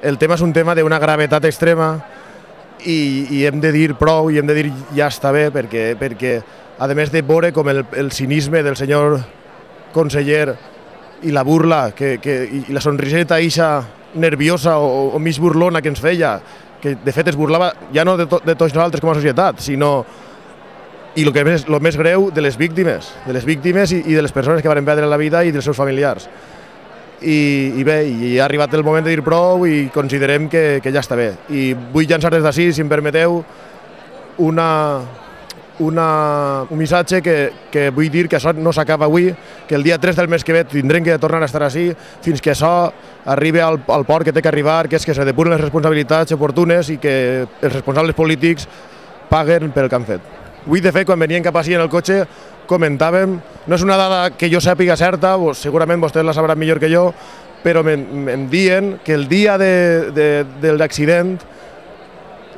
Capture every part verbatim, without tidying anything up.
el tema és un tema d'una gravetat extrema i, i hem de dir prou i hem de dir ja està bé, perquè, perquè a més de veure com el, el cinisme del senyor conseller i la burla que, que, i la sonriseta eixa nerviosa o, o mig burlona que ens feia, que de fet es burlava ja no de, to, de tots nosaltres com a societat, sinó, i el que és el més greu, de les víctimes, de les víctimes i, i de les persones que van perdre la vida i dels seus familiars. I, i bé, i ha arribat el moment de dir prou i considerem que, que ja està bé. I vull llançar des d'ací, si em permeteu, una, una, un missatge que, que vull dir que això no s'acaba avui, que el dia tres del mes que ve tindrem que tornar a estar així fins que això arribi al, al port que té que arribar, que és que se depuren les responsabilitats oportunes i que els responsables polítics paguen pel que han fet. Avui, de fet, quan venien cap així en el cotxe, comentàvem, no és una dada que jo sàpiga certa, segurament vostès la sabran millor que jo, però em diuen que el dia de, de, de l'accident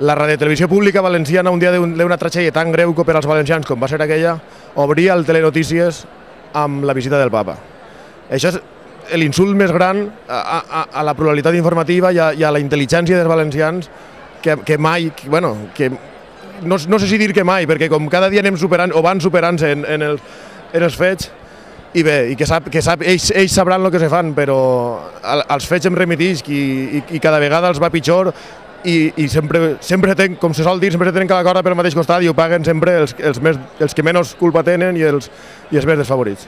la radiotelevisió pública valenciana, un dia d'una tragèdia tan greu per als valencians com va ser aquella, obria el Telenotícies amb la visita del papa. Això és l'insult més gran a, a, a la pluralitat informativa i a, i a la intel·ligència dels valencians que, que mai, que, bueno, que No, no sé si dir que mai, perquè com cada dia anem superant o van superant-se en, en, el, en els fets, i bé, i que, sap, que sap, ells, ells sabran el que se fan, però als fets em remetisc i, i, i cada vegada els va pitjor i, i sempre, sempre ten, com se sol dir, sempre tenen cada corda pel mateix costat i ho paguen sempre els, els, més, els que menys culpa tenen i els, i els més desfavorits.